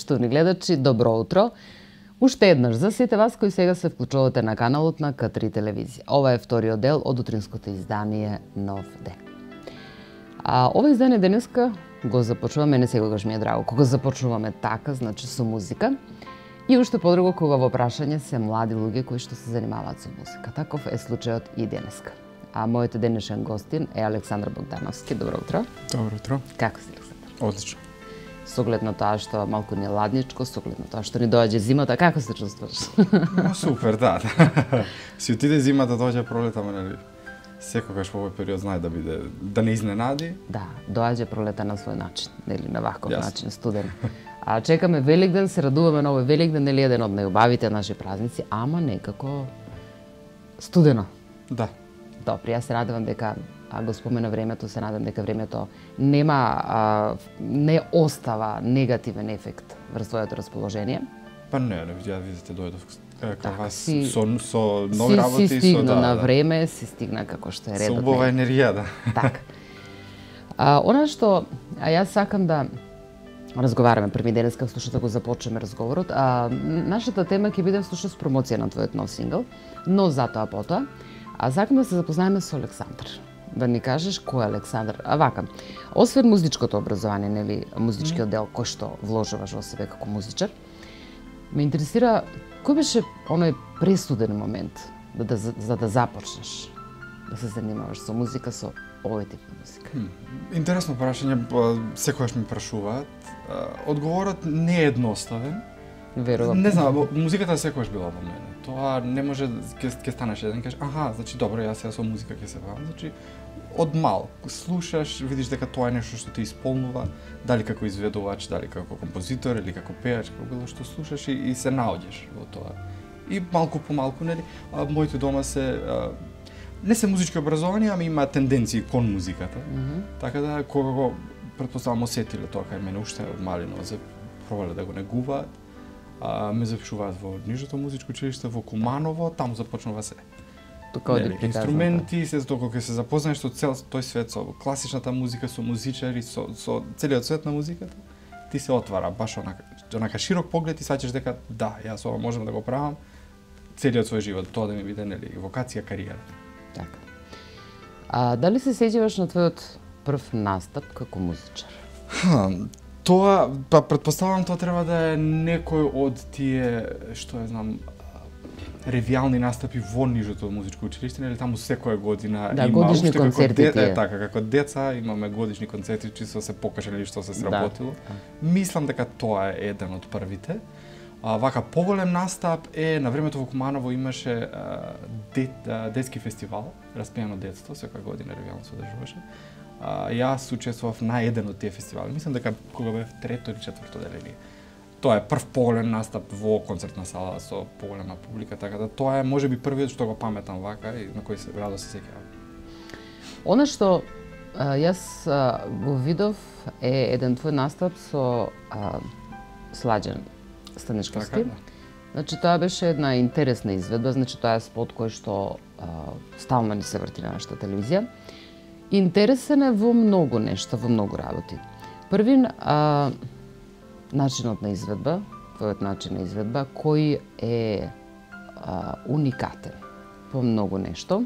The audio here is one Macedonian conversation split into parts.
Поштовни гледачи, добро утро. Уште еднаш за сите вас кои сега се вклучувате на каналот на К3 телевизија. Ова е вториот дел од утринското издание Нов ден. Ова издание денеска го започнуваме, не секогаш ми е драго кога започнуваме така, значи со музика. И уште подруго кога во прашање се млади луѓе кои што се занимаваат со музика. Таков е случајот и денеска. Мојот денешен гостин е Александар Богдановски. Добро утро. Добро утро. Како си, Александар? Одлично. Со оглед на тоа што малку не ладничко, со оглед на тоа што ни доаѓа зимата, како се чувствуваш? Супер, да. Си отиде зимата, доаѓа пролета, ама нели секогаш во овој период знае да биде да не изненади. Да, доаѓа пролета на свој начин, нели на ваков начин, студен. Чекаме Великден, се радуваме на овој Великден, нели еден од најубавите наши празници, ама некако студено. Да. Добро, јас се надевам дека го спомена времето, се надам дека времето не остава негативен ефект врз твоето расположение. Па не, ја видите дојдов кај вас си, со нови работи, си стигна на време, си стигна како што е редот. Со убава енергија, да. Така. Она што јас сакам да разговараме први денеска, слушате го започнеме разговорот. Нашата тема ќе биде всушност промоција на твојот нов сингл, но затоа потоа. Сакам да се запознаеме со Александар. Да ни кажеш кој е Александар. Вака, освен музичкото образование, нели, музичкиот дел кој што вложуваш во себе како музичар, ме интересира кој беше оној пресуден момент за да започнеш да се занимаваш со музика, со овој тип на музика? Интересно прашање, секогаш ми прашуваат. Одговорот не е едноставен. Верувам. Не знам, музиката секогаш била во мене. Тоа не може ќе станеш еден кажеш, значи добро, јас сега со музика ќе се бавам. Значи од мал слушаш, видиш дека тоа е нешто што те исполнува, дали како изведувач, дали како композитор или како пејач, како било што слушаш и се наоѓаш во тоа. И малку по малку, нели, моите дома се не се музички образовани, ами има тенденции кон музиката. Така да кога го претпоставам осетиле тоа кај мене уште од малино, се пробале да го негуваат. Ме запишуваат во Нижното музичко училиште во Куманово, таму започнува се. Инструменти, се докога ќе се запознаеш со цел тој свет, со класичната музика, со музичари, со целиот свет на музиката, ти се отвара баш онака широк поглед и саќаш дека да, јас ова можам да го правам целиот свој живот, тоа да ми биде нели вокација, кариера. Така. Дали се сеќаваш на твојот прв настап како музичар? Тоа, претпоставам, тоа треба да е некој од тие, што ја знам, ревијални настапи во Нижото музичко училиште, нели таму секоја година има годишни уште концерти така, како деца имаме годишни концерти, чисто се покажале што се сработило. Мислам дека тоа е еден од првите. Вака поголем настап е на времето во Куманово имаше детски фестивал, Распејано детство, секоја година ревијално се одржуваше. Јас учествував на еден од тие фестивали. Мислам дека кога бев трето или четврто деление. Тоа е прв поголем настап во концертна сала со поголема публика, така да тоа е можеби првиот што го паметам вака и на кој се радо се сеќавам. Она што јас го видов е еден твој настап со Сладжан Станишковски. Така, да. Значи тоа беше една интересна изведба, значи тоа е спот кој што стално ни се врти на нашата телевизија. Интересен е во многу нешта, во многу работи. Првин, начинот на изведба, твојот начин на изведба, кој е уникатен по многу нешто.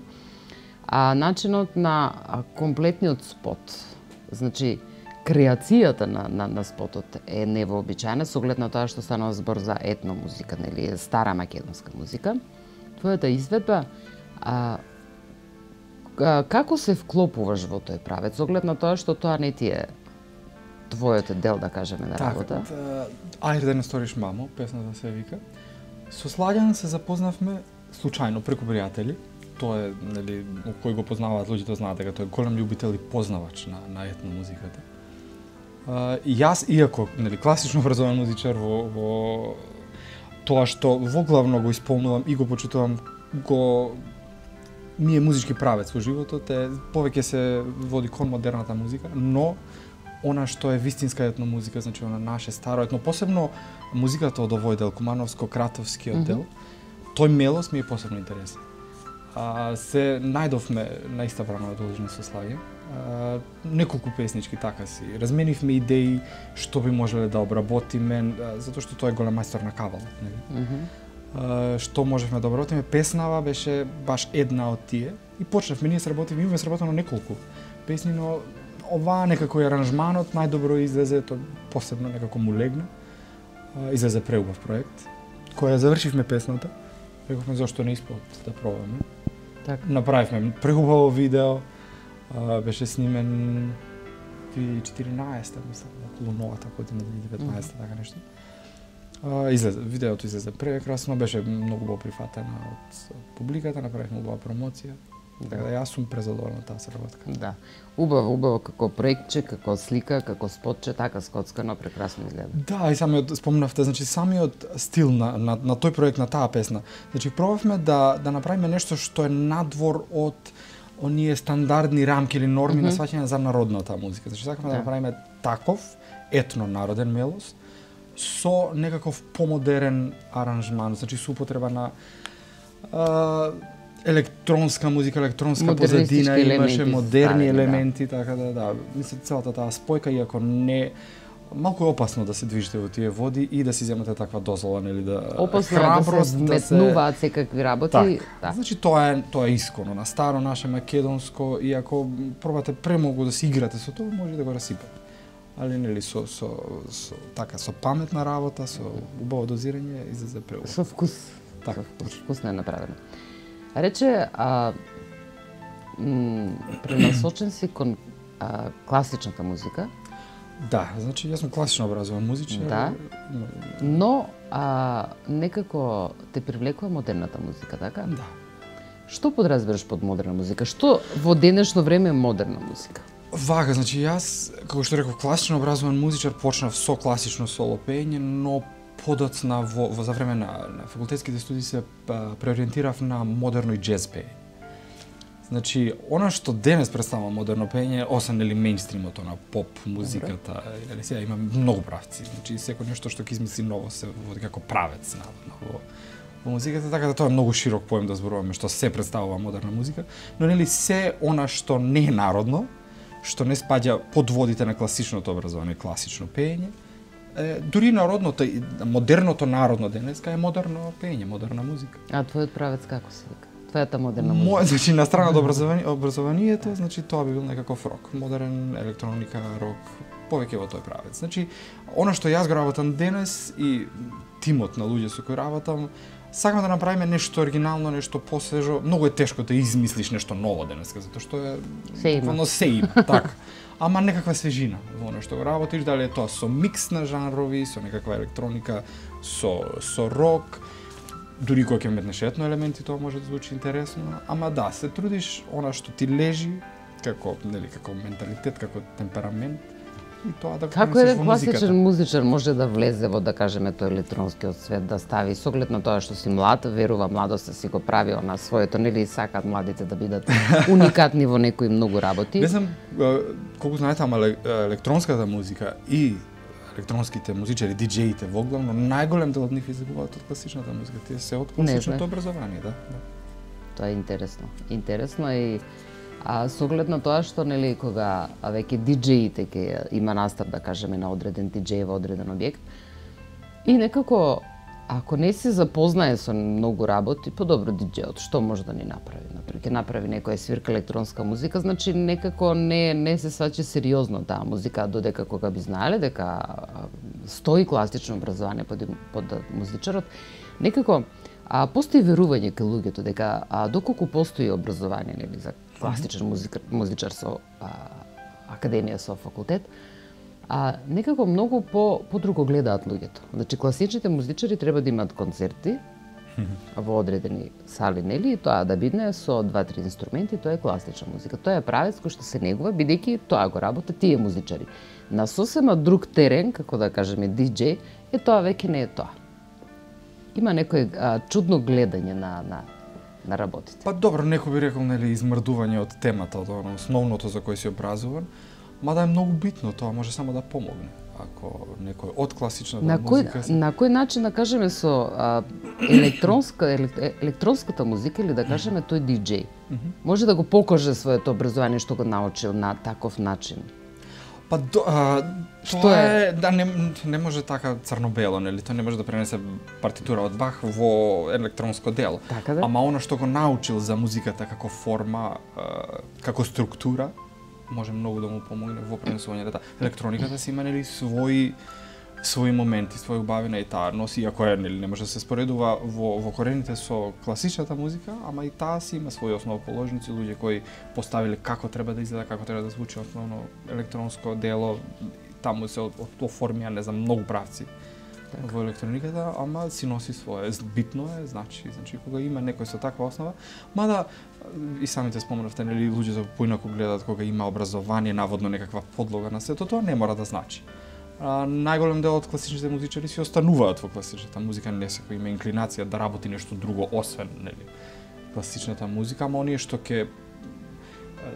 Начинот на комплетниот спот, значи креацијата на спотот е невообичаена, со оглед на тоа што станува збор за етно музика, нели, стара македонска музика. Твојата изведба, како се вклопуваш во тој правец, со оглед на тоа што тоа не ти е твојот дел, да кажеме, на работа? Ајде да не сториш мамо, песната се вика. Со Сладјан се запознавме случајно преку пријатели. Тоа е, нели, кој го познаваат луѓето знаат дека тој е голем љубител и познавач на етно музиката. И јас, иако, нели, класично образован музичар во тоа што во главно го исполнувам и го почитувам, ми е музички правец во животот, повеќе се води кон модерната музика, но она што е вистинска етно музика, значи она наше старо етно, посебно музиката од овој дел, Кумановско-Кратовскиот дел, тој мелос ми е посебно интересен. Се најдовме на иста време одолжени со Славија, неколку песнички така си. Разменивме идеи што би можеле да обработиме, затоа што тој е голем мајстор на кавалот, нели? Што можевме да обработиме, песнава беше баш една од тие и почнавме, ние сработивме, имаме сработено неколку песни, но оваа некако е аранжманот најдобро излезе, тоа посебно некако му легна. Излезе преубав проект. Кога завршивме песната, рековме зошто не испод да пробаме. Така. Направивме преубаво видео, беше снимен 2014, мислам, околу новата година, 2019, така нешто. Видеото излезе прекрасно, беше многу убаво прифатено од публиката, направивме убава промоција. Така да јас сум презадоволен од таа сработка. Да. Убаво како проектче, како слика, како спотче, така скоцкано прекрасно изгледа. Да, и самиот спомнавте, значи самиот стил на тој проект, на таа песна. Значи пробавме да направиме нешто што е надвор од оние стандардни рамки или норми на сваќање за народната музика. Значи сакаме да направиме таков етно-народен мелос со некаков помодерен аранжман, значи со употреба на електронска музика, електронска позадина, имаше модерни елементи, така да. Мислам целата таа спојка, иако не малку е опасно да се движите во тие води и да си земате таква дозвола, нели да опасно храброст да се вметнуваат секакви работи. Да. Значи тоа е исконо на старо наше македонско, и ако пробате премногу да се играте со тоа, може да го расипате. Али нели со паметна работа, со убаво дозирање излезе преубаво. Со вкус. Така, вкусно е направено. Рече, пренасочен си кон класичната музика. Да, значи јас сум класично образован музичар. Да, но некако те привлекува модерната музика, така? Да. Што подразбираш под модерна музика? Што во денешно време е модерна музика? Вака, значи јас, како што реков, класично образован музичар, почнав со класично соло пеење, но подоцна за време на факултетските студии се преориентирав на модерно и џез пеење. Значи, она што денес представува модерно пеење, освен нели мејнстримото на поп музиката, или сега има многу правци. Значи, секој нешто што ќе измисли ново се води како правец наводно во музиката, така да тоа е многу широк поем да зборуваме што се представува модерна музика, но нели се она што не е народно, што не спаѓа под водите на класичното образование, класично пеење, дури народното, модерното народно денеска е модерно пеење, модерна музика. А твојот правец како се вика? Твојата модерна музика? Значи, на страна од образованието, значи тоа би бил некаков рок, модерен електроника, рок, повеќе во тој правец. Значи, она што јас го работам денес и тимот на луѓе со кои работам, сакаме да направиме нешто оригинално, нешто посвежо. Многу е тешко да измислиш нешто ново денеска, затоа што е се има, така. Ама некаква свежина во она што го работиш, дали е тоа со микс на жанрови, со некаква електроника, со рок, дури кога ќе метнеш етно елементи, тоа може да звучи интересно, ама да, се трудиш она што ти лежи, како менталитет, како темперамент, и тоа да го како еден класичен музичар може да влезе во, да кажеме, тој електронскиот свет, да стави с оглед на тоа што си млад, верува младоста си го прави на своето, нели сакаат младите да бидат уникатни во некои многу работи. Не знам колку знаете, ама електронската музика и електронските музичари, диџеите воглавно, најголем дел од нив излегуваат од класичната музика. Тие се од класичното образование, да. Тоа е интересно. Интересно и со оглед на тоа што нели кога веќе диџеите ќе има настап, да кажеме, на одреден диџеј во одреден објект, и некако ако не се запознае со многу работи, подобро диџејот што може да ни направи? Например, ќе направи некоја свирка електронска музика, значи некако не се сваќа сериозно таа музика, додека кога би знаеле дека стои класично образование под музичарот, некако постои верување кај луѓето дека доколку постои образование, нели, за класичен музичар со академија, со факултет, некако многу подруго гледаат луѓето. Значи, класичните музичари треба да имаат концерти во одредени сали, нели, и тоа да бидне со 2-3 инструменти, тоа е класична музика. Тоа е правец кој што се негува, бидејќи тоа го работат тие музичари. На сосема друг терен, како да кажеме диџеј, тоа веќе не е тоа. Има некој чудно гледање на работите. Па добро, некој би рекол, нели, измрдување од темата, од основното за кој си образуван, мада е многу битно, тоа може само да помогне. ако некој од класичната на музика... На кој начин, да кажеме, со електронската музика, или да кажеме тој диџеј, може да го покаже своето образование што го научил на таков начин? Па тоа е да не може така црно-бело, нели? Тоа не може да пренесе партитура од Бах во електронско дело. Така да? Ама она што го научил за музиката како форма, како структура, може многу да му помогне во пренесувањето. Електрониката си има нели свои моменти, своја убавина и таа носи, иако е нели не може да се споредува во корените со класичната музика, ама и таа си има своји основоположници, луѓе кои поставиле како треба да изгледа, како треба да звучи основно електронско дело, таму се оформија не знам многу правци во електрониката, ама си носи свое. Битно е, значи кога има некој со таква основа, мада и самите споменавте, нели луѓето поинаку гледаат кога има образование, наводно некаква подлога на сето, тоа не мора да значи. Најголем дел од класичните музичари си остануваат во класичната музика, не секој има инклинација да работи нешто друго освен нели класичната музика, ама оние што ќе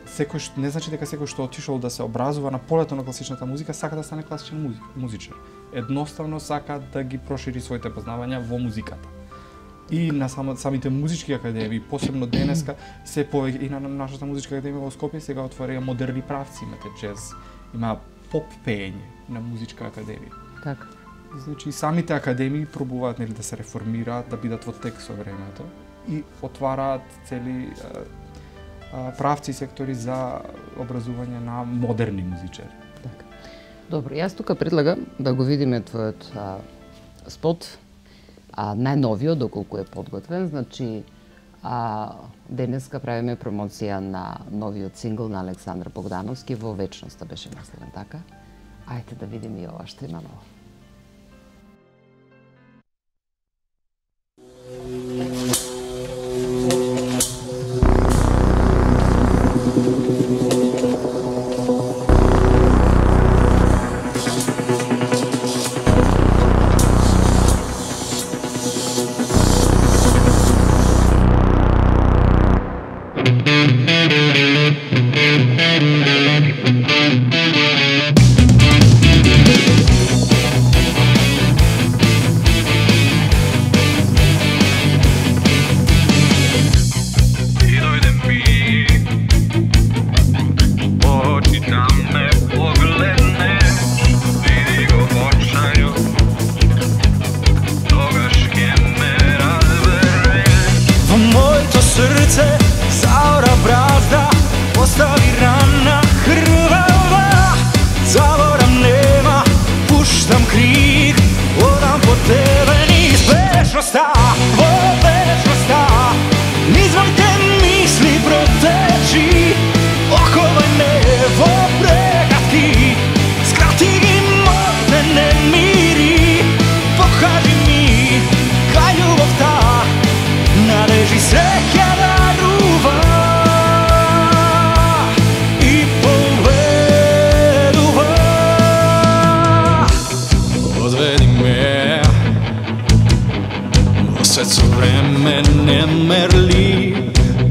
секој не значи дека секој што отишол да се образува на полето на класичната музика сака да стане класичен музичар. Едноставно сака да ги прошири своите познавања во музиката. И на самите музички академии, посебно денеска, се повеќе и на нашата музичка академија во Скопје сега отвореа модерни правци, имате джез, има поп пеење на музичка академија. Така. Значи самите академии пробуваат нели да се реформираат, да бидат во тек со времето и отвараат цели правци и сектори за образување на модерни музичари. Така. Добро, јас тука предлагам да го видиме твојот спот, најновиот, доколку е подготвен, значи денеска правиме промоција на новиот сингл на Александар Богдановски, Во вечноста беше наследен, така? Ајде да видиме и ова што има ново.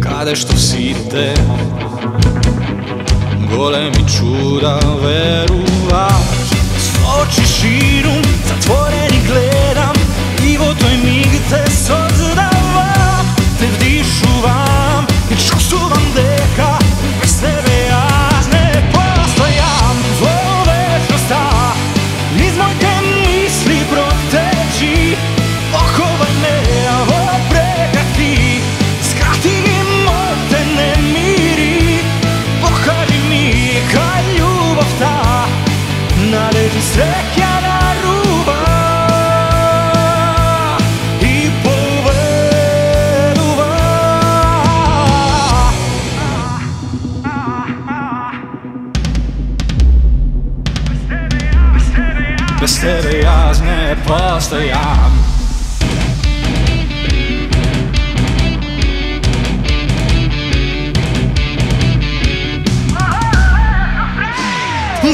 Каде што сите големи чуда веруваш, со очи ширум затворени гледам и во тој миг те создавам, те вдишувам и чувствувам дека без тебе јас не постојам. Во вечноста низ моите мисли протечи, оховај ме во прекратки, скрати ги моите немири, покажи ми кај љубовта належи среќа на руба и победува. Без тебе јас не постојам.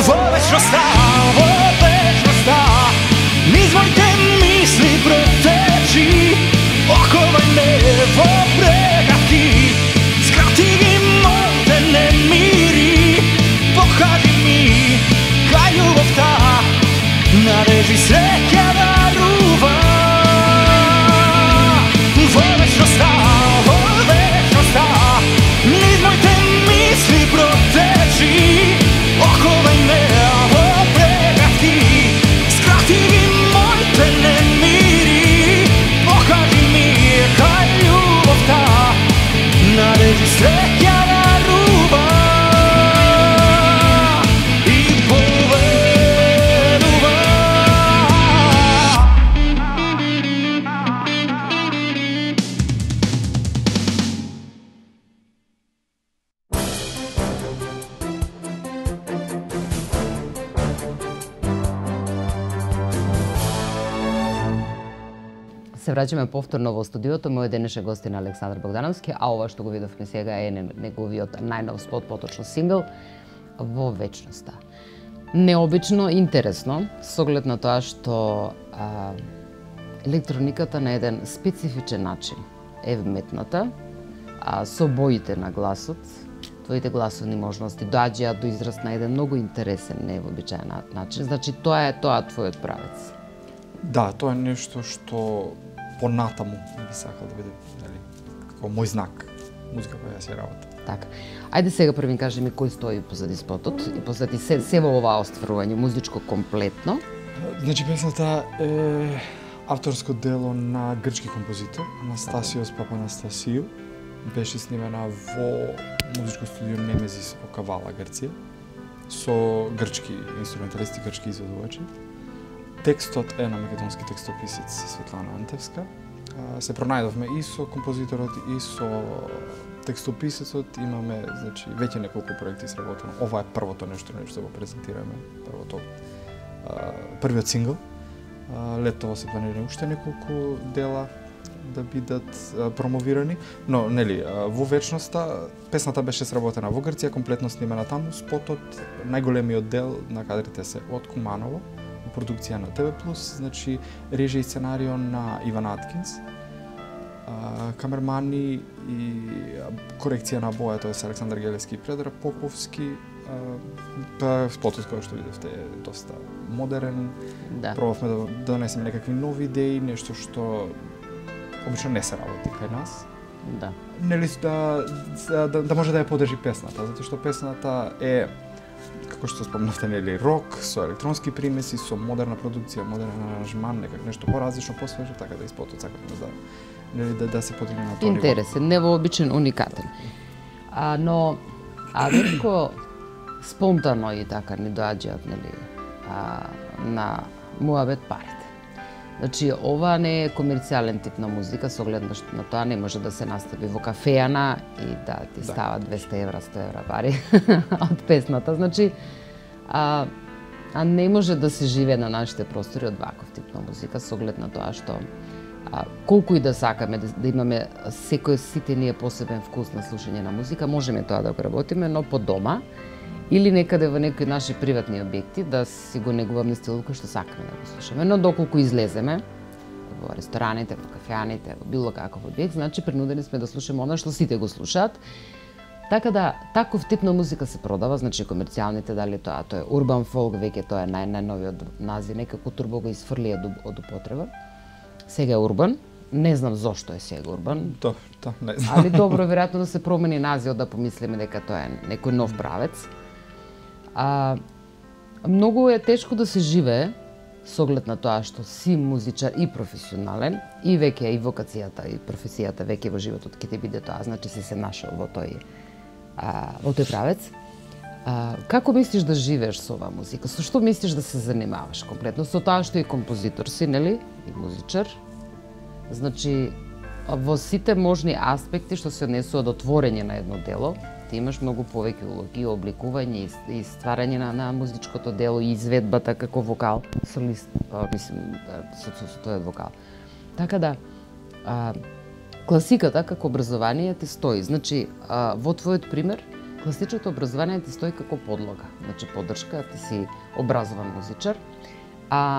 Во вечноста, низ моите мисли протечи, оховај ме во прегатки, скрати ги моите немири, покажи ми кај љубовта се враќаме повторно во студиото. Мој денешен гостин е Александар Богдановски, а ова што го видовме сега е неговиот најнов спот, поточно сингл Во вечноста. Необично, интересно, со оглед на тоа што електрониката на еден специфичен начин е вметната, со боите на гласот, твоите гласовни можности доаѓаат до израз на еден многу интересен, невообичаен начин. Значи, тоа е твојот правец. Да, тоа е нешто што понатаму би сакал да биде, нели, како мој знак, музика која јас ја работам. Така. Ајде сега први кажи ми кој стои позади спотот и позади се во оваа остварување музичко комплетно. Значи, песната е авторско дело на грчки композитор Анастасиос Папанастасиу. Беше снимена во музичко студио Немезис во Кавала, Грција, со грчки инструменталисти, грчки изведувачи. Текстот е на македонски текстописец Светлана Антевска. Се пронајдовме и со композиторот и со текстописецот. Имаме, значи, веќе неколку проекти сработено. Ова е првото нешто го презентираме, првиот сингл. Летово се планира уште неколку дела да бидат промовирани, но нели во вечноста песната беше сработена во Грција, комплетно снимена таму. Спотот, најголемиот дел на кадрите се од Куманово, продукција на ТВ+, значи режија и сценарио на Иван Аткинс, камермани и корекција на боја, тоа е Александар Гелевски и Предраг Поповски. Спотот кој што видевте е доста модерен. Да. Пробавме да донесеме некакви нови идеи, нешто што обично не се работи кај нас. Да. Нели да може да ја подржи песната, затоа што песната е, како што спомнавте, нели, рок со електронски примеси, со модерна продукција, модерен аранжман, некак нешто поразлично, посвежо, така да и спотот сакавме да се подигне на тоа ниво. Интересен, невообичен, уникатен. Но ретко спонтано и така ни доаѓаат, нели, на муабет парите. Значи, ова не е комерцијален тип на музика, со оглед на тоа не може да се настави во кафејана и да ти става 200 евра, 100 евра пари од песната. Значи, не може да се живее на нашите простори од ваков тип на музика, со оглед на тоа што колку и да сакаме да имаме сите ние посебен вкус на слушање на музика, можеме тоа да го работиме, но по дома или некаде во некои наши приватни објекти да си го негуваме стилот кој што сакаме да го слушаме. Но доколку излеземе во рестораните, во кафеаните, во било каков објект, значи принудени сме да слушаме она што сите го слушаат. Така да, таков тип на музика се продава, значи комерцијалните, дали тоа е урбан фолк, веќе тоа е најновиот назив, некако турбо го изфрли од употреба. Сега е урбан, не знам зошто е сега урбан. Да, не знам. Али добро, веројатно да се промени називот, да помислиме дека тоа е некој нов правец. Многу е тешко да се живее со оглед на тоа што си музичар и професионален и веќе и вокацијата и професијата веќе во животот ќе ти биде тоа, значи си се нашол во тој правец. Како мислиш да живееш со оваа музика? Со што мислиш да се занимаваш комплетно? Со тоа што и композитор си, нели? И музичар. Значи, во сите можни аспекти што се однесува до творење на едно дело, ти имаш многу повеќе улоги, обликување и стварање на музичкото дело и изведбата како вокал, солист, мислим, со тој вокал. Така да, класиката како образование ти стои. Значи, во твојот пример, класичното образование ти стои како подлога. Значи, поддршка, ти си образован музичар,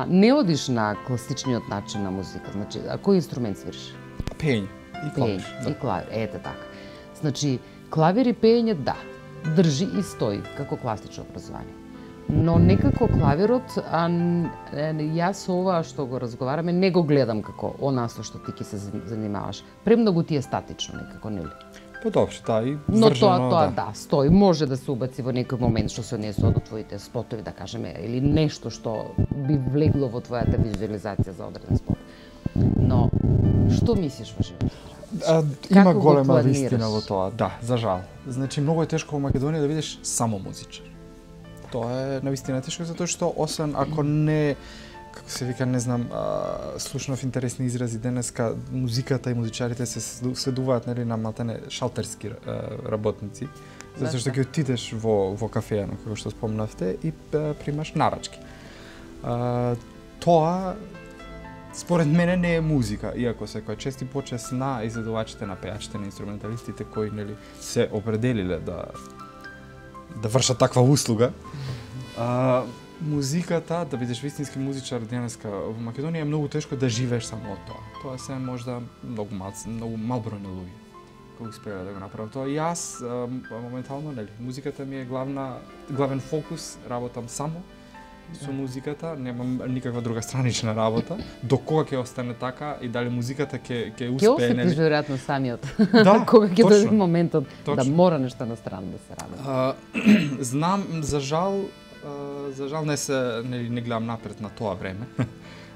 не одиш на класичниот начин на музика. Значи, кој инструмент свириш? Пење и клавир. И клавир, ете така. Значи, клавир и пење, да, држи и стои како класично образование. Но некако клавирот, јас ова што го разговараме, не го гледам како она со што ти ќе се занимаваш. Премногу ти е статично некако, нели? Добро, да, и но вржено, тоа стои, може да се убаци во некој момент што се однесува до твоите спотови, да кажеме, или нешто што би влегло во твојата визуализација за одреден спот. Но што мислиш во животот? Има голема вистина во тоа, да, за жал. Значи, многу е тешко во Македонија да видиш само музичар. Тоа е навистина тешко, затоа што освен ако не, како се вика, не знам, слушнав интересни изрази денеска, музиката и музичарите се сведуваат, нели, на матане шалтерски работници, затоа што ќе отидеш во кафејано, како што спомнавте, и примаш нарачки. Тоа според мене не е музика, иако секоја чест и почест на изvedувачите, на пејачите, на инструменталистите кои нели се определиле да вршат таква услуга. Музиката, да бидеш вистински музичар денеска во Македонија е многу тешко да живееш само од тоа. Тоа се можда многу мал број на луѓе кои успеале да го направат тоа. И јас моментално нели музиката ми е главен фокус, работам само со музиката, немам никаква друга странична работа. До кога ќе остане така и дали музиката ќе успее, нели? Ќе осетиш веројатно самиот. Да, кога ќе дојде моментот да мора нешто на страна да се работи. Знам, за жал не гледам напред на тоа време.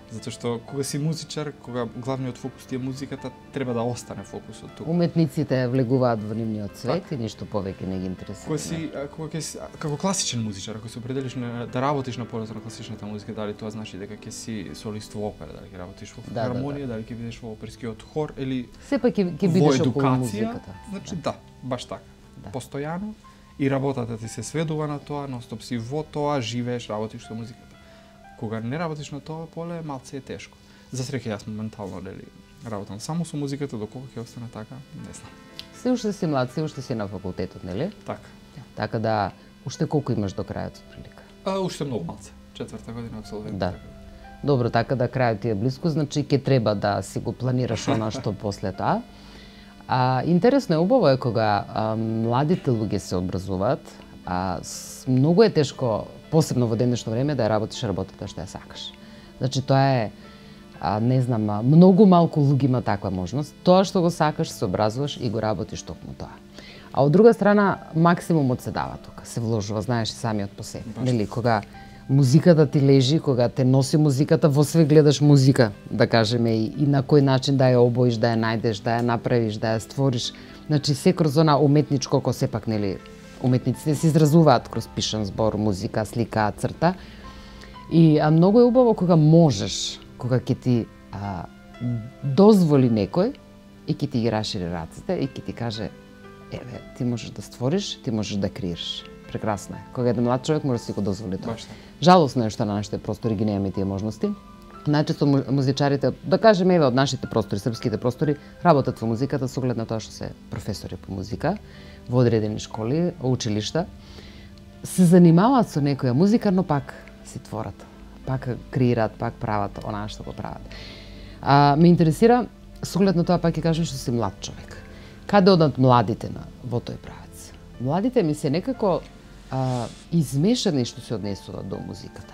Затоа што кога си музичар, кога главниот фокус ти е музиката, треба да остане фокусот тука. Уметниците влегуваат во нивниот свет и ништо повеќе не ги интересира. Кога како класичен музичар, ако се определиш да работиш на полето на класичната музика, дали тоа значи дека ќе си солист во опера, дали ќе работиш во хармонија, дали ќе бидеш во оперскиот хор или сепак ќе бидеш околу музиката. Значи да, баш така. Постојано и работата ти се сведува на тоа, ностоп си во тоа, живееш, работиш со музиката. Кога не работиш на тоа поле, малце е тешко. За среќа јас моментално работам само со музиката, до кога ќе остане така, не знам. Се уште си млад, се уште си на факултетот, нели? Така. Така да, уште колку имаш до крајот прилика? Уште многу малце. 4-та година апсолвент. Да. Добро, така да крајот ти е блиску, значи ќе треба да си го планираш она што после тоа. Интересно е, убаво е кога младите луѓе се образуваат, многу е тешко, посебно во денешно време, да ја работиш работата што ја сакаш. Значи тоа е, не знам, многу малку луѓе има таква можност. Тоа што го сакаш, се образуваш и го работиш токму тоа. А од друга страна, максимумот се дава тука, се вложува, знаеш и самиот по себе. Нели, кога музиката ти лежи, кога те носи музиката, во све гледаш музика, да кажеме, и на кој начин да ја обоиш, да ја најдеш, да ја направиш, да ја створиш. Значи, се кроз она уметничко, кој сепак, нели, уметниците се изразуваат кроз пишан збор, музика, слика, црта. И многу е убаво кога можеш, кога ќе ти дозволи некој и ќе ти ги рашири раците и ќе ти каже, еве, ти можеш да створиш, ти можеш да креираш. Прекрасно е. Кога еден млад човек може да си го дозволи тоа. Жалосно е што на нашите простори ги немаме тие можности. Најчесто музичарите, да кажеме, еве, од нашите простори, српските простори, работат во музиката со оглед на тоа што се професори по музика во одредени школи, училишта. Се занимаваат со некоја музика, но пак си творат. Пак креираат, пак прават онаа што го прават. Ме интересира, со оглед на тоа пак ќе кажам што си млад човек. Каде одат младите во тој правец? Младите ми се некако измешани што се однесуваат до музиката.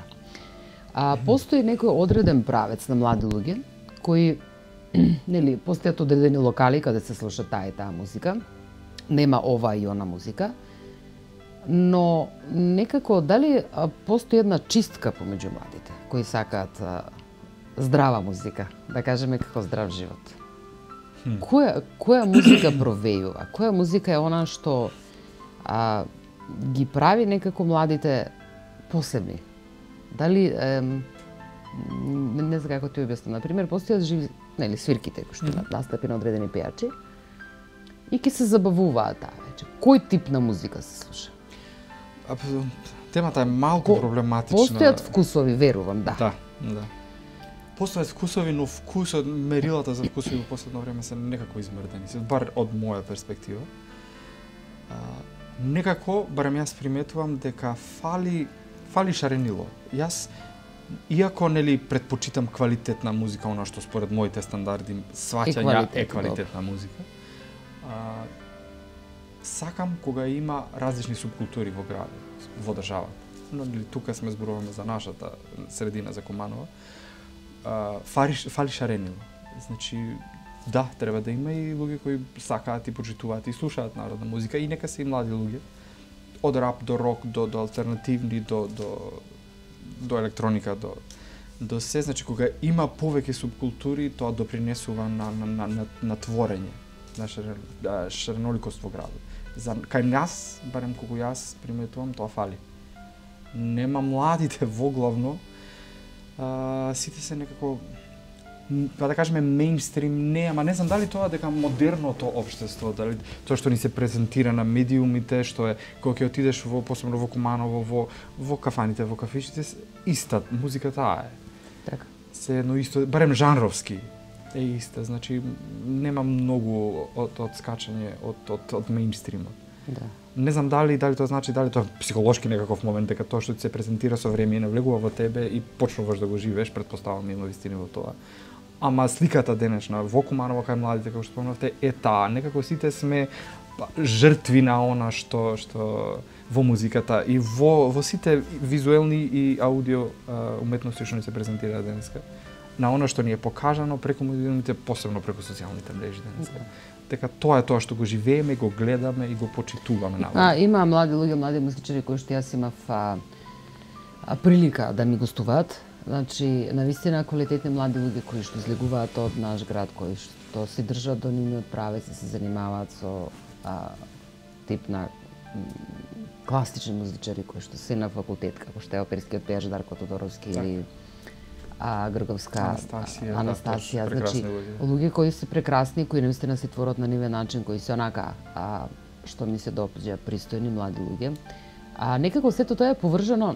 Постои некој одреден правец на млади луѓе кои, нели, постојат одредени локали каде се слуша таа и таа музика, нема ова и она музика, но некако дали постои една чистка помеѓу младите кои сакаат здрава музика, да кажеме како здрав живот. Која музика провејува? Која музика е она што ги прави некако младите посебни? Дали, не знам како ти објаснам, например, постојат живи, нели, свирките кои што имаат настапи на одредени пејачи и ќе се забавуваат таа вечер. Кој тип на музика се слуша? Темата е малку проблематична. Постојат вкусови, верувам, да. Да. Постојат вкусови, но мерилата за вкусови во последно време се некако измрдени, бар од моја перспектива. Некако, барем јас приметувам дека фали шаренило. Јас, иако нели предпочитам квалитетна музика, она што според моите стандарди сваќања е квалитетна музика, сакам кога има различни субкултури во градот, во државата. Но тука сме зборуваме за нашата средина, за Куманова. Фали шаренило. Значи, да, треба да има и луѓе кои сакаат и почитуваат и слушаат народна музика, и нека се и млади луѓе. Од рап до рок, до алтернативни, до електроника, до се. Значи, кога има повеќе субкултури, тоа допринесува на творење, на шареноликост во градот. Кај нас, барем колку јас приметувам, тоа фали. Нема младите воглавно, сите се некако, па да кажеме, мејнстрим, не знам дали тоа дека модерното општество, дали тоа што ни се презентира на медиумите, што е кога ќе отидеш посебно во Куманово, во кафаните, во кафичите, иста музика таа е. Така. се едно исто, барем жанровски е иста, значи нема многу од скачање од меинстримот. Да. Не знам дали тоа значи дали тоа психолошки некаков момент дека тоа што ти се презентира со време навлегува во тебе и почнуваш да го живееш, претпоставам има вистина во тоа. Ама сликата денешна во Куманово кај младите како што спомнавте е таа, некако сите сме жртви на она што во музиката и во сите визуелни и аудио уметности што ни се презентираат денеска, на она што ни е покажано преку медиумите, посебно преку социјалните мрежи денеска. Дека тоа е тоа што го живееме, го гледаме и го почитуваме наваму. Има млади луѓе, млади музичари кои што јас имав прилика да ми гостуваат. Значи, навистина квалитетни млади луѓе кои што излегуваат од наш град, кои што се држат до нивниот правец и се занимаваат со тип на класични музичари кои што се на факултет, како што е оперскиот пејач Дарко Тодоровски или Грговска Анастасија, значи луѓе кои се прекрасни, кои навистина се творат на нивен начин, кои се онака што ми се допаѓа пристојни млади луѓе. Некако сето тоа е поврзано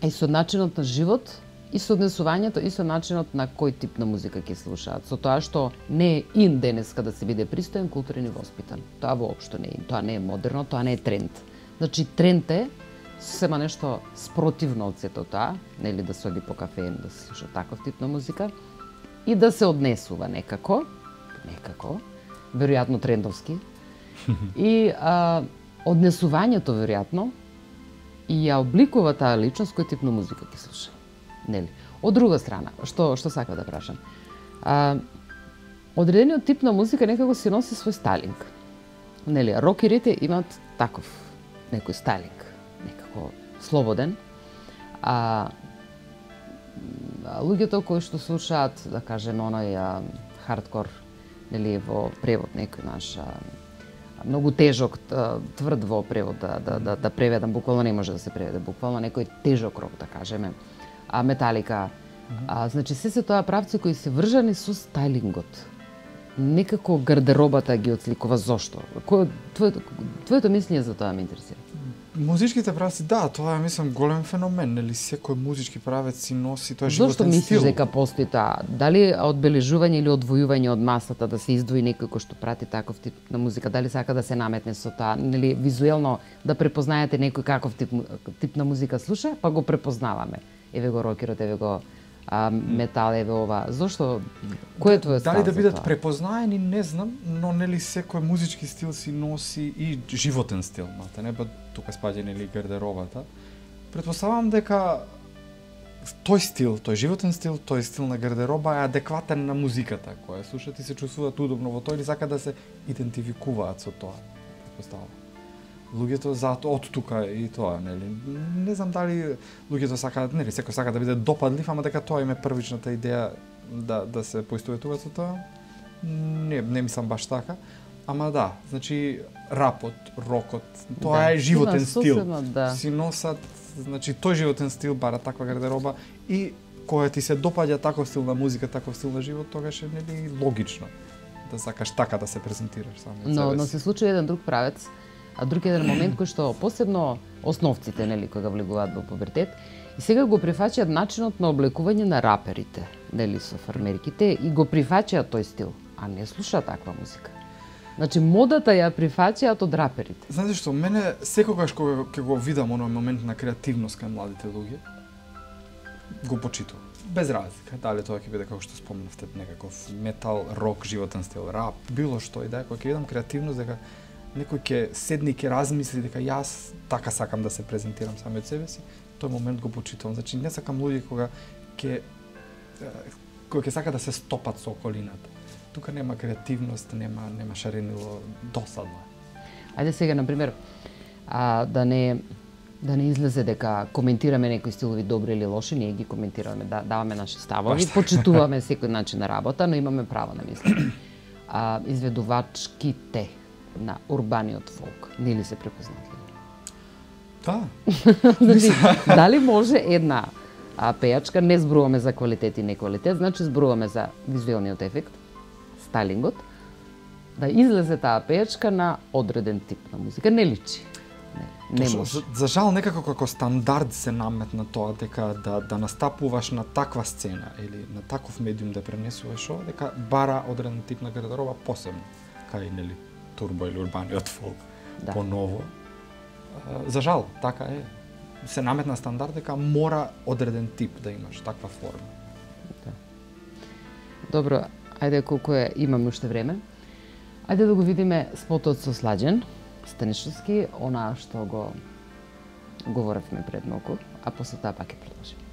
и со начинот на живот, и со однесувањето, и со начинот на кој тип на музика ќе слушаат. Со тоа што не е ин денеска да се биде пристоен, културен и воспитан. Тоа воопшто не е ин, тоа не е модерно, тоа не е тренд. Значи тренд е сема нешто спротивно од сето тоа, нели да се оди по кафе, да се слуша таков тип на музика и да се однесува некако, веројатно трендовски. И однесувањето веројатно и ја обликува таа личност кој тип на музика ќе слуша. Нели? Од друга страна, што сакам да прашам. Одредениот тип на музика некако си носи свој стайлинг. Нели, рокерите имаат таков некој стайлинг, некако слободен. Луѓето кои што слушаат, да кажем, оној хардкор, нели, во превод некој наш многу тежок, тврд во превод да преведам, буквално не може да се преведе, буквално некој тежок рок, да кажеме, Металика. Значи, се тоа правци кои се вржани со стайлингот. Некако гардеробата ги отсликува. Зошто? Твоето мислење за тоа ме интересира. Музичките правци, да, тоа е, мислам, голем феномен, нели секој музички правец си носи тој животен стил. Зошто мислиш дека постои таа? Дали одбележување или одвојување од масата, да се издвои некој кој што прати таков тип на музика, дали сака да се наметне со тоа, нели визуелно да препознаете некој каков тип на музика слуша, па го препознаваме. Еве го рокерот, еве го метал, еве ова. Зошто? Кој е твојот став? Дали да бидат препознаени, не знам, но нели секој музички стил си носи и животен стил, не ба тука спаѓа нели гардеробата. Претпоставам дека тој стил, тој животен стил, тој стил на гардероба е адекватен на музиката која слушаат и се чувствуваат удобно во тој или сака да се идентификуваат со тоа. Претпоставам. Луѓето затоа од тука и тоа, нели. Не знам дали луѓето сакаат, нели, секој сака да биде допадлив, ама дека тоа им е првичната идеја да се поистоветуваат со тоа. Не мислам баш така. Ама да, значи рапот, рокот, тоа е животен стил. Си носат, значи тој животен стил бара таква гардероба и кога ти се допаѓа таков стил на музика, таков стил на живот, тогаш е нели логично да сакаш така да се презентираш само од себе си. Но се случи еден друг правец, друг еден момент кој што посебно основците, нели, кога влегуваат во пубертет, и сега го прифаќаат начинот на облекување на раперите, нели, со фармерките, и го прифаќаат тој стил, а не слушаат таква музика. Значи, модата ја прифаќаат од раперите. Знаете што, мене секогаш кога ќе го видам оној момент на креативност кај младите луѓе, го почитувам. Без разлика, дали тоа ќе биде како што спомнавте, некаков метал, рок, животен стил, рап, било што и да, кога ќе видам креативност, дека некој ќе седне и ќе размисли дека јас така сакам да се презентирам сами од себе си, тој момент го почитувам. Значи не сакам луѓе кога ќе сака да се стопат со околината. Тука нема креативност, нема шаренило, досадно. Ајде сега, например, да не излезе дека коментираме некои стилови добри или лоши, ние ги коментираме, даваме наши ставови, почитуваме секој начин на работа, но имаме право на мислење. Изведувачките на урбаниот фолк, нели се препознатливи? Да. Значи, дали може една пејачка, не зборуваме за квалитет и неквалитет, значи зборуваме за визуелниот ефект, стайлингот, да излезе таа пејачка на одреден тип на музика, не личи. Не може. За жал некако како стандард се наметна тоа дека да настапуваш на таква сцена или на таков медиум да пренесуваш ова, дека бара одреден тип на гардероба посебно, кај нели турбо или урбаниот фолк. Да. Поново. За жал, така е. Се наметна стандард дека мора одреден тип да имаш, таква форма. Да. Добро, ајде колку имаме уште време. Ајде да го видиме спотот со Сладжен Станишевски, она што го говоревме пред малку, а после тоа пак ќе продолжиме.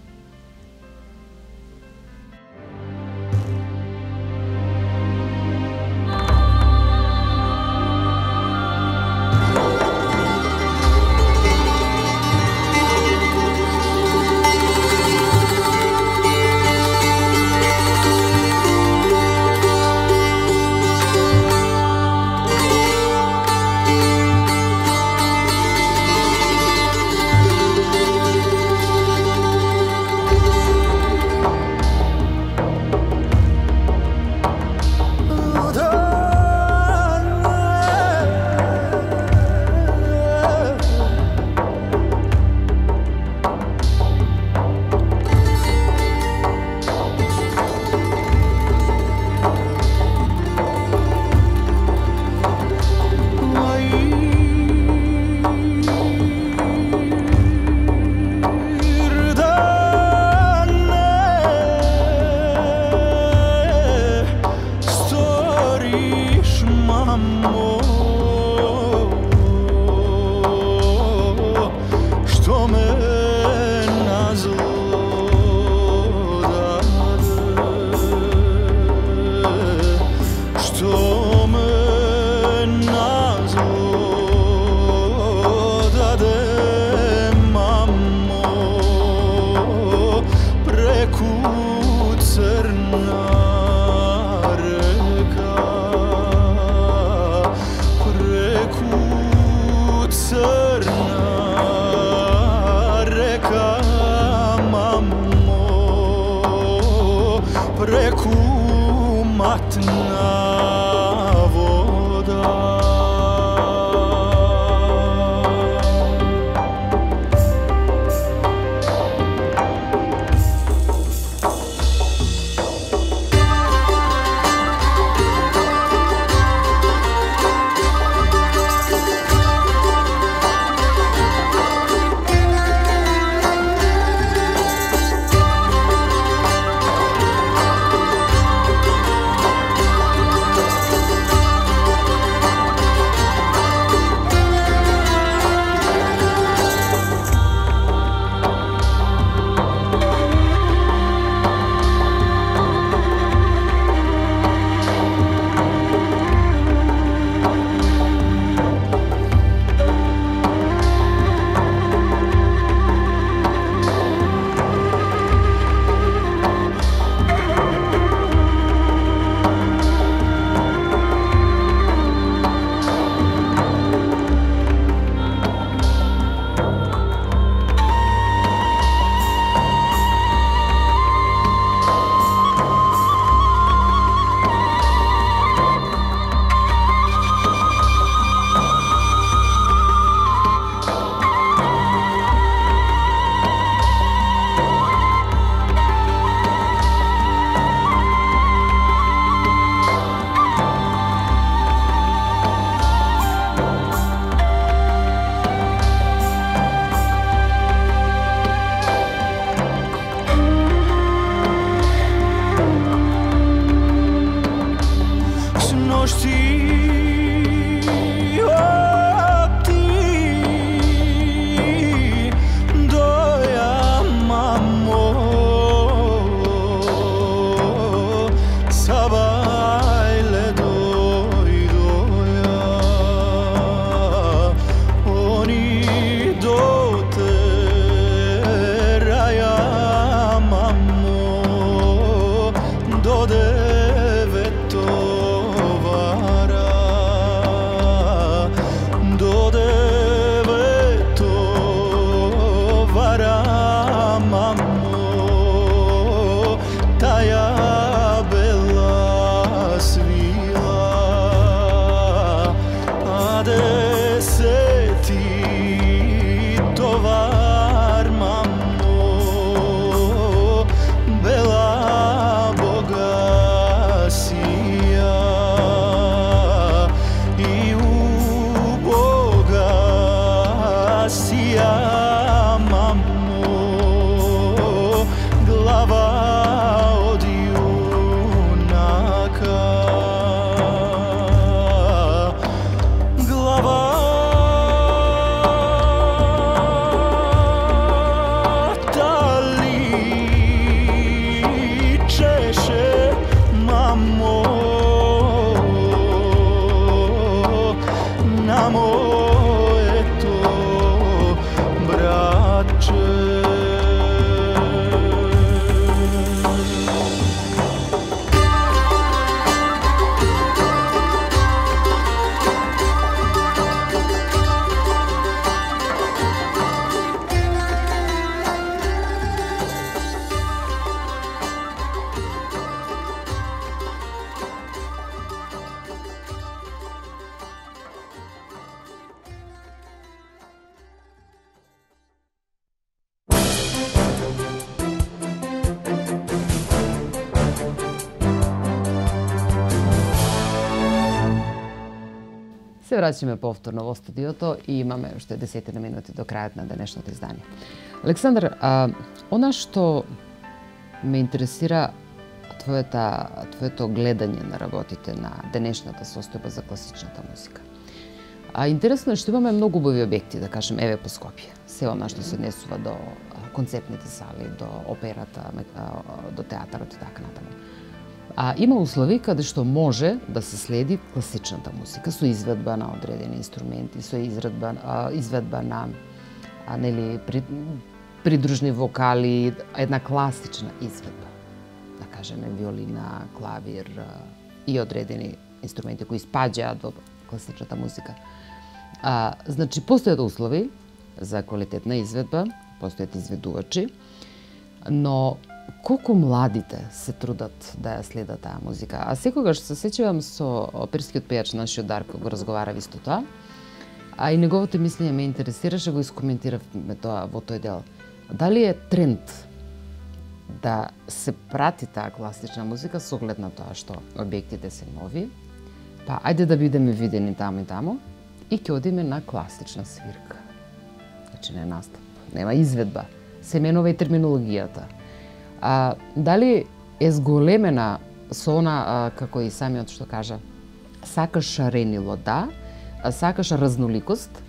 сија, мамо, глава од јунака. Глава Се враќаме повторно во студиото и имаме уште 10 минути до крајот на денешното издание. Александар, она што ме интересира твоето гледање на работите на денешната состојба за класичната музика. Интересно е што имаме многу убави објекти, да кажем, еве по Скопје. Се она што се однесува до концептните сали, до операта, до театарот и така натаму. Има услови каде што може да се следи класичната музика со изведба на одредени инструменти, со изведба на придружни вокали, една класична изведба. Да кажеме виолина, клавир и одредени инструменти кои спаѓаат во класичната музика. Значи, постојат услови за квалитетна изведба, постојат изведувачи, но колку младите се трудат да ја следат таа музика. А секогаш се сеќавам со оперскиот пејач нашиот Дарко, го разговарав исто тоа, и неговото мислење ме интересираше, го искоментиравме тоа во тој дел. Дали е тренд да се прати таа класична музика со оглед на тоа што објектите се нови, па ајде да бидеме видени таму и таму и ќе одиме на класична свирка. Значи не настап, нема изведба, се менува и терминологијата. Дали е зголемена со она, како и самиот што кажа, сакаш шаренило, да, сакаш разноликост,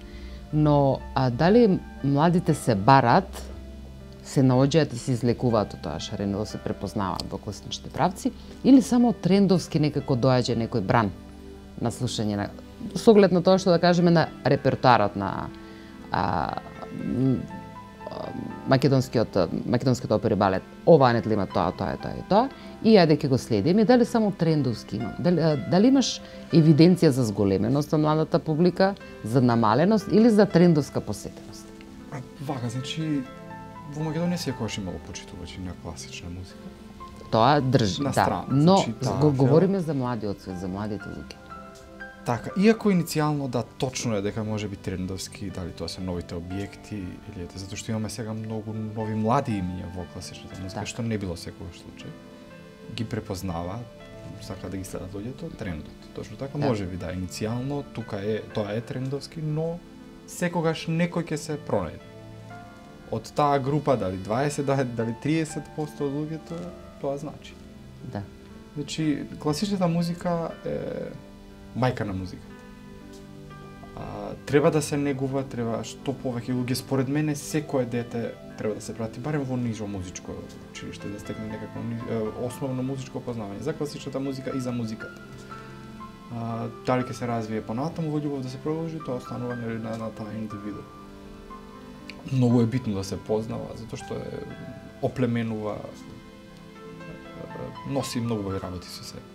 но дали младите се барат, се наоѓаат и се излекуваат од тоа шаренило, се препознаваат во класичните правци, или само трендовски некако доаѓа некој бран на слушање на, со оглед на тоа што да кажеме на репертоарот на македонскиот опери балет, ова анетли има тоа и тоа, и ајде ќе го следиме, дали само трендовски има, дали имаш евиденција за зголеменост на младата публика, за намаленост или за трендовска посетеност? Вака, значи, во Македонија секогаш имало почитувачи на класична музика. Тоа држи, да, но значи, говориме за младиот свет, за младите луѓе. Така, иако иницијално да, точно е дека може би трендовски, дали тоа се новите објекти или ете, затоа што имаме сега многу нови млади имиња во класичната музика, што не било секогаш случај. Ги препознава, сака да ги следат луѓето, трендот. Точно така, може би да, иницијално тоа е трендовски, но секогаш некој ќе се пронајде. Од таа група, дали 20, дали 30% од луѓето, тоа значи. Да. Значи, класичната музика е мајка на музика. Треба да се негува, треба што повеќе луѓе, според мене секое дете треба да се прати барем во нижо музичко училиште, да стекне некакво основно музичко познавање за класичната музика и за музиката. Дали ќе се развие понатаму во љубов да се продолжи, тоа останува на таа индивиду. Многу е битно да се познава, затоа што е оплеменува, носи многу убави работи со себе.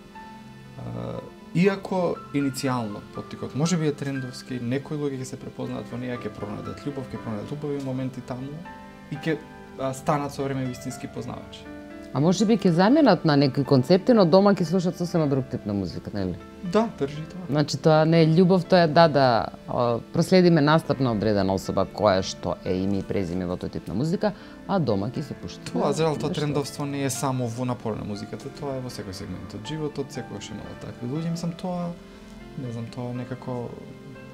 Иако иницијално поттикот може би е трендовски, некои луѓе ќе се препознаат во неја, ќе пронајдат љубов, ќе пронајдат убави моменти таму и ќе станат со време вистински познавачи. А може би ќе заменат на некои концепти, но дома ќе слушаат сосема друг тип на музика, нели? Да, држи тоа. Значи тоа не е љубов, тоа е да проследиме настап на одредена особа која што е име и презиме во тој тип на музика, а дома ќе се пушти. Тоа зрелото трендовство не е само во напор на музиката, тоа е во секој сегмент од животот, секогаш имало такви луѓе, мислам тоа, не знам, тоа некако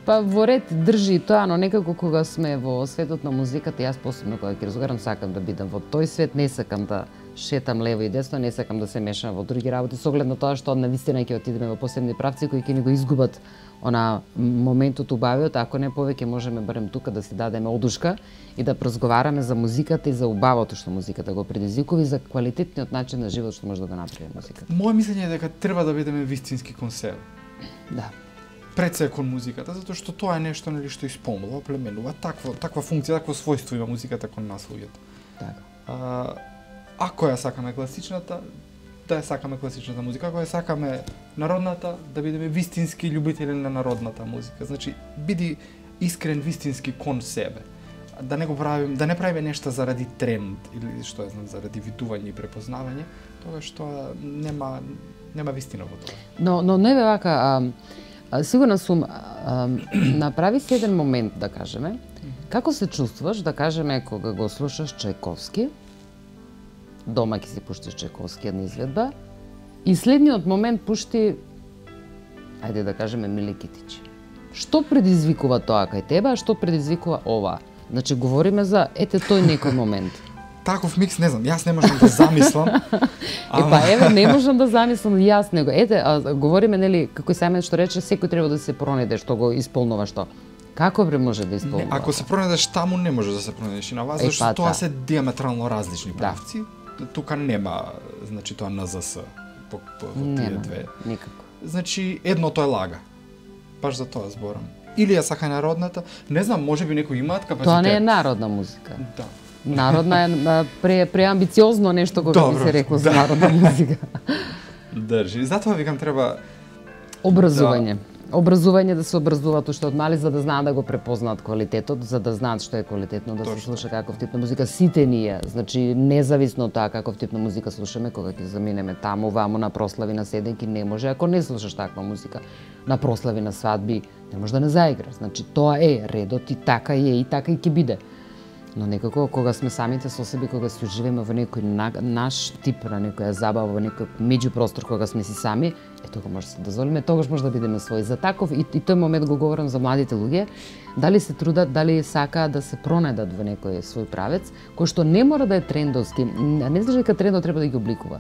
Па во ред држи и тоа, но некако кога сме во светот на музиката, јас посебно кога ќе разговарам сакам да бидам во тој свет, не сакам да шетам лево и десно, не сакам да се мешам во други работи, со оглед на тоа што навистина ќе отидеме во посебни правци кои ќе ни го изгубат она моментот убавиот, ако не повеќе можеме барем тука да си дадеме одушка и да разговараме за музиката и за убавото што музиката го предизвикува и за квалитетниот начин на живот што може да го направи музиката. Моје мислење е дека треба да бидеме вистински кон себе. Да. Пред се кон музиката, затоа што тоа е нешто нели што исполнува, оплеменува, таква функција, такво својство има музиката кон нас луѓето. Така. Ако ја сакаме класичната, да ја сакаме класичната музика, ако ја сакаме народната, да бидеме вистински љубители на народната музика. Значи, биди искрен вистински кон себе. Да не го правиме, да не правиме нешта заради тренд или што ја знам, заради видување и препознавање, тоа што нема вистина во тоа. Но не бе вака, сигурна сум, направи се еден момент, да кажеме, како се чувствуваш, да кажеме, кога го слушаш Чајковски, дома ќе си пуштиш Чајковски една изведба, и следниот момент пушти, ајде да кажеме, Миле Китич. Што предизвикува тоа кај тебе, а што предизвикува ова? Значи, говориме за, тој некој момент. Таков микс, не знам, јас не можам да замислам. Еве, не можам да замислам јас него. Говориме, нели, како и Сајмет што рече, секој треба да се пронајде што го исполнува што. Како бре може да исполнува? Ако се пронајдеш таму, не може да се пронајдеш и на вас, зашто тоа се диаметрално различни правци. Тука нема, значи тоа НЗС по тие две. Никако. Значи, едното е лага. Баш за тоа зборам. Или ја сака народната, не знам, можеби некои имаат капацитет. Тоа не е народна музика. Да. Народна е преамбициозно нешто кога би се рекло за народна музика. Држи. Затоа викам треба образување. Образување, да се образуваат уште од мали за да знаат да го препознаат квалитетот, за да знаат што е квалитетно, да се слуша каков тип на музика. Сите ние, значи независно од тоа каков тип на музика слушаме, кога ќе заминеме таму, ваму на прослави, на седенки, не може ако не слушаш таква музика. На прослави, на свадби, не може да не заигра. Значи тоа е редот и така е и така и ќе биде. Но некако кога сме самите со себе, кога се живееме во некој наш тип на некоја забава, во некој меѓупростор кога сме си сами, тога може да се дозволиме, тогаш може да бидеме своји. За таков и тој момент го говорам за младите луѓе, дали се трудат, дали сакаат да се пронајдат во некој свој правец, кој што не мора да е трендовски, не значи дека трендот треба да ги обликува.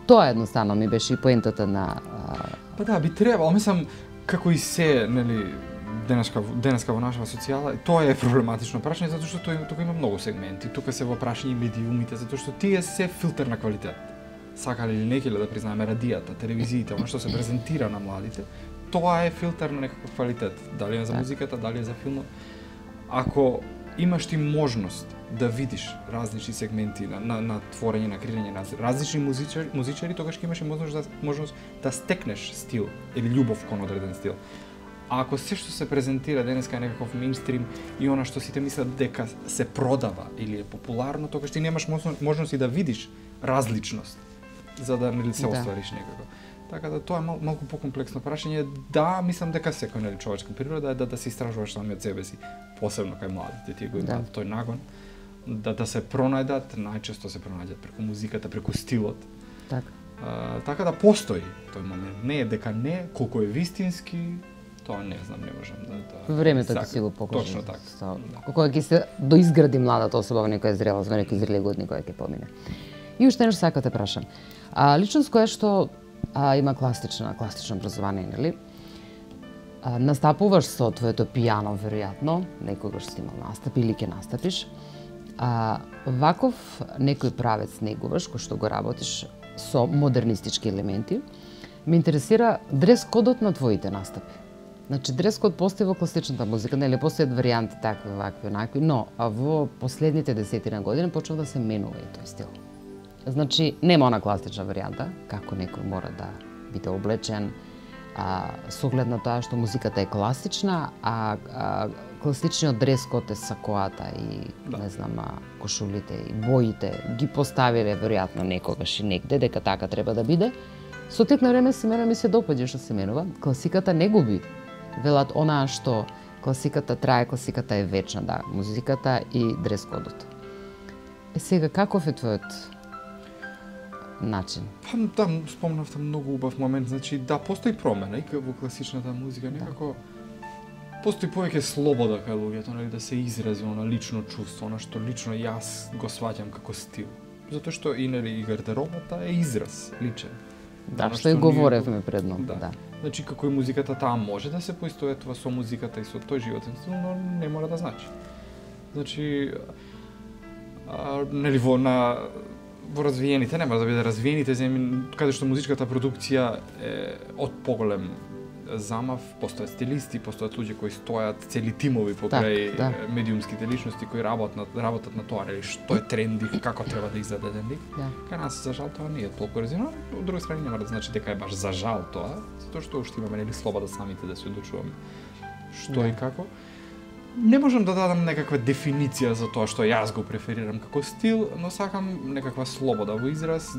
Тоа едноставно ми беше и поентата на Па да, би требало, мислам како и се, нели, денеска во нашава социјала, тоа е проблематично прашање затоа што тука има многу сегменти. Тука се во прашање медиумите затоа што тие се филтер на квалитет. Сакале или не да признаеме радијата, телевизиите, она што се презентира на младите, тоа е филтер на некаков квалитет. Дали е за музиката, дали е за филмот. Ако имаш ти можност да видиш различни сегменти на творење, на креирање на различни музичари, тогаш ќе имаш и можност да стекнеш стил или љубов кон одреден стил. А ако се што се презентира денеска е некаков мејнстрим и она што сите мислат дека се продава или е популарно, тогаш ти немаш можност и да видиш различност за да нели се оствариш некако. Така да тоа е малку покомплексно прашање. Да, мислам дека секој нели човечка природа е да се истражуваш самиот себе си, посебно кај младите, тие го имаат тој нагон да се пронајдат, најчесто се пронајдат преку музиката, преку стилот. Така да постои тој момент. Не е дека не, колку е вистински, тоа не знам, не можам да времето ќе си го покаже. Точно така. Кога ќе се доизгради младата особа во некоја зрелост, во некои зрели години која ќе помине. И уште нешто сакам да те прашам. Личност која што има класично образование, нели? Настапуваш со твоето пијано, веројатно, некогаш си имал настапи или ќе настапиш. Ваков некој правец негуваш, кој што го работиш со модернистички елементи, ме интересира дрес-кодот на твоите настапи. Значи, дрес-код постои во класичната музика, нели постојат варијанти такви, вакви, онакви, но во последните десетина години почнува да се менува и тој стил. Значи, нема она класична варијанта, како некој мора да биде облечен, со оглед на тоа што музиката е класична, а класичниот дрес-код е сакоата и, не знам, кошулите и боите, ги поставиле веројатно некогаш и негде, дека така треба да биде. Со тек на време се менува, ми се допаѓа што се менува. Класиката не губи. Велат онаа што класиката трае, класиката е вечна, да, музиката и дрес-кодот. Сега, каков е твојот начин? Там спомнавте многу убав момент, значи да, постои промена и во класичната музика, некако Постои повеќе слобода кај луѓето, нели, да се изрази она лично чувство, она што лично јас го сваќам како стил. Затоа што и нели и гардеробата е израз личен. Да, Она што и говоревме предно. Да. Значи како и музиката таа може да се поистоветува со музиката и со тој животен стил, но не мора да значи. Значи нели во развиените, нема да биде развиените земји каде што музичката продукција е од поголем замав, постојат стилисти, постојат луѓе кои стојат, цели тимови покрај медиумските личности кои работат на тоа, нели што е тренди, како треба да изгледа еден лик. Да. Кај нас за жал тоа не е толку развиено, од друга страна нема да значи дека е баш за жал тоа, затоа што уште имаме нели слобода самите да се одлучуваме што и како. Не можам да дадам некаква дефиниција за тоа што јас го преферирам како стил, но сакам некаква слобода во израз,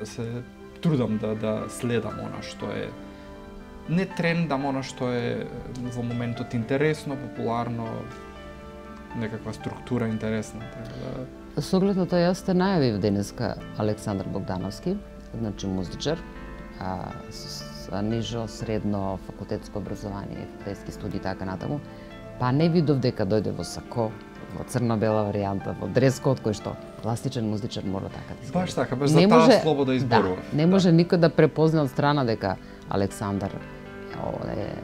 се трудам да следам она што е не трендам, она што е во моментот интересно, популарно, некаква структура интересна. Со оглед на тоа, јас те најавив денеска Александар Богдановски, значи музичар, нижо, средно, факултетско образование, факултетски студии и така натаму, па не видов дека дојде во сако, во црно-бела варијанта, во дрес-код, кој што класичен музичар мора така да изгледа. Баш така, баш за таа слобода изборува. Да, не може никој да препозна од страна дека Александар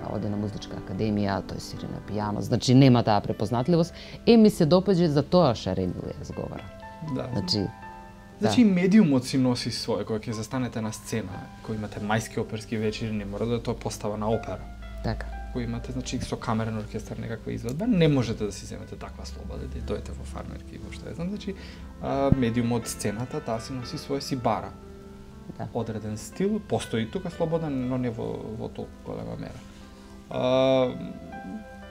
оде на музичка академија, тој свири на пијано, значи нема таа препознатливост. Ми се допаѓа за тоа шаренило ја зговара. Да. Значи, медиумот си носи своје, кога ќе застанете на сцена, кој имате мајски оперски вечери, не мора да е тоа постава на опера. Така. Кој имате, значи, со камерен оркестар некаква изведба, не можете да си земете таква слобода, да дојдете во фармерки и во што е знам, значи, медиумот сцената, таа си носи своја си бара. Да. Одреден стил, постои тука слобода, но не во толку голема мера.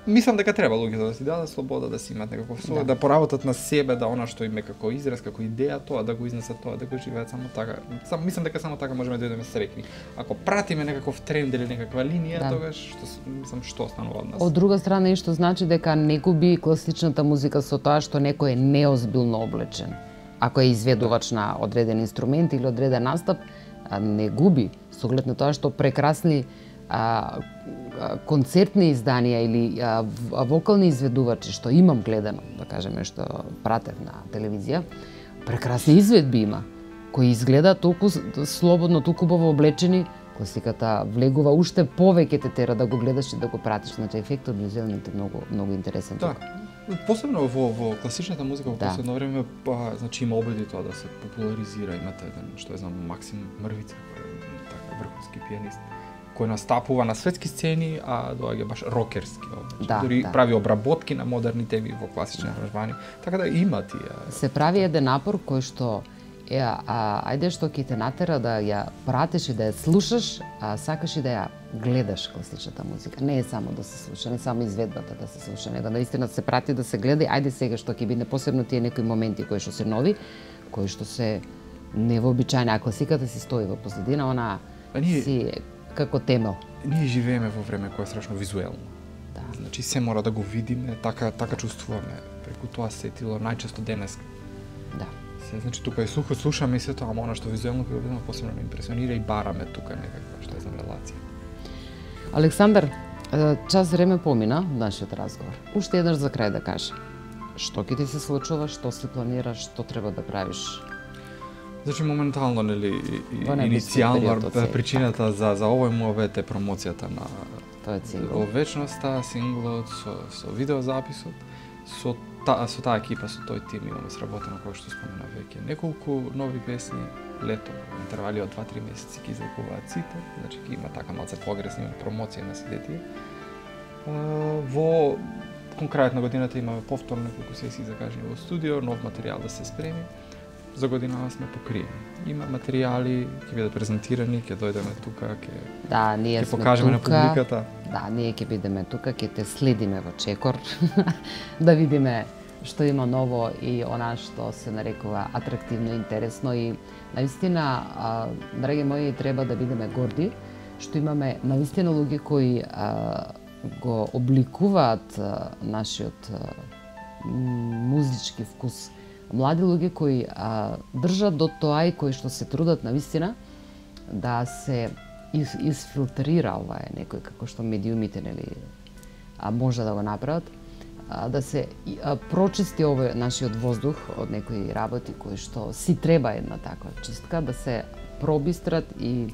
Мислам дека треба луѓето да си дадат слобода, да си имаат некаков свој, да поработат на себе, да она што им е како израз, како идеја, тоа да го изнесат, тоа да го живеат само така. Мислам дека само така можеме да бидеме среќни. Ако пратиме некаков тренд или некаква линија, тогаш што останува од нас. Од друга страна, што значи дека не губи класичната музика со тоа што некој е неозбилно облечен. Ако е изведувач на одреден инструмент или одреден настап, не губи, со оглед на тоа што прекрасни концертни изданија или вокални изведувачи, што имам гледано, да кажеме, што пратев на телевизија, прекрасни изведби има, кои изгледаат толку слободно, толку убаво облечени, класиката влегува уште повеќе те тера да го гледаш и да го пратиш, значи ефектот визуелниот е многу интересен. Да. Посебно во класичната музика во последно време, значи има обиди тоа да се популаризира, имате еден, што е знам, Максим Мрвица, кој е така врховски пианист, кој настапува на светски сцени, а доаѓа баш рокерски, дори прави обработки на модерни теми во класични аранжмани, така да има тие. Се прави еден напор кој што ајде што ќе те натера да ја пратиш и да ја слушаш, сакаш и да ја гледаш класичната музика. Не е само да се слуша, не само изведбата да се слуша, него наистина се прати да се гледа. Ајде сега што ќе биде посебно тие некои моменти кои што се нови, кои што се невообичаени, а класиката си стои во позадина, она си како темел. Ние живееме во време кое е страшно визуелно. Да. Значи се мора да го видиме, така чувствуваме. Преку тоа сетило најчесто денес. Да. Значи тука е сухо, слушаме и се тоа, ама она што визуелно ќе го видиме посебно ме импресионира и бараме тука некаква што е за релација. Александар, час време помина нашиот разговор. Уште еднаш за крај да кажам. Што ќе ти се случува, што си планираш, што треба да правиш? Значи моментално, нели, иницијално причината за овој мовет е промоцијата на тој сингл. Во вечноста, синглот со видеозаписот, со таа екипа, со тој тим имаме сработено, кој што спомена веќе. Неколку нови песни, лето, во интервали од 2-3 месеци ќе излегуваат сите, значи ќе има така малце поагресивна промоција на сите тие. Во конкретно годината имаме повторно неколку сесии закажани во студио, нов материјал да се спреми. За годинава сме покриени. Има материјали, ќе бидат презентирани, ќе дојдеме тука, ќе покажеме на публиката. Да, ние ќе бидеме тука, ќе те следиме во чекор, да видиме што има ново и она што се нарекува атрактивно, интересно и наистина, драги мои, треба да бидеме горди што имаме наистина луѓе кои го обликуваат нашиот музички вкус. Млади луѓе кои држат до тоа и кои што се трудат навистина да се изфилтрира ова е некој како што медиумите, нели, може да го направат, да се прочисти овој нашиот воздух од некои работи кои што си треба една таква чистка, да се пробистрат и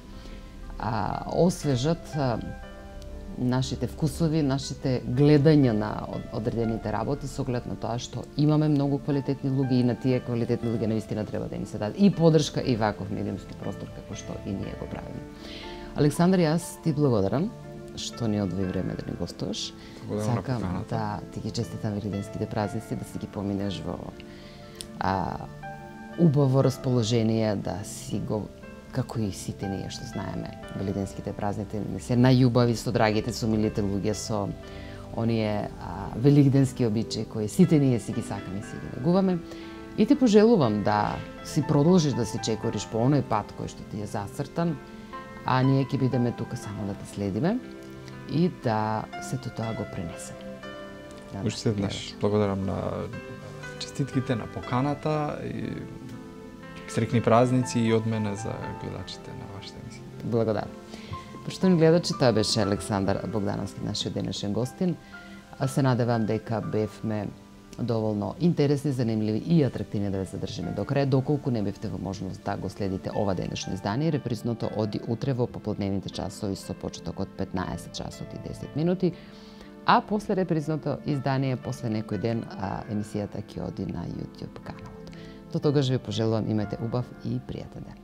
освежат нашите вкусови, нашите гледања на одредените работи со оглед на тоа што имаме многу квалитетни луѓе и на тие квалитетни луѓе наистина треба да им се даде и подршка и ваков медиумски простор како што и ние го правиме. Александар, јас ти благодарам што ни одвои време да ни гостуваш. Сакам да ти ги честитам велигденските празници, да си ги поминеш во убаво расположение, да си го како и сите ние што знаеме, велигденските празници не се најубави со драгите, со милите луѓе, со оние велигденски обичаи кои сите ние си ги сакаме и си ги негуваме. И ти пожелувам да си продолжиш да си чекориш по оној пат кој што ти е зацртан, а ние ќе бидеме тука само да те следиме и да сето тоа го пренесеме. Уште еднаш благодарам на честитките, на поканата и срекни празници и од мене за гледачите на вашата емисија. Благодарам. Поштовни гледачи, тоа беше Александар Богдановски, нашиот денешен гостин. Се надевам дека бевме доволно интересни, занимливи и атрактивни да ве задржиме до крај, доколку не бевте во можност да го следите ова денешно издание. Репризното оди утре во попладневните часови со почеток од 15 часот и 10 минути, а после репризното издание, после некој ден, емисијата ќе оди на YouTube каналот. До тогаш ви пожелувам имате убав и пријатен ден.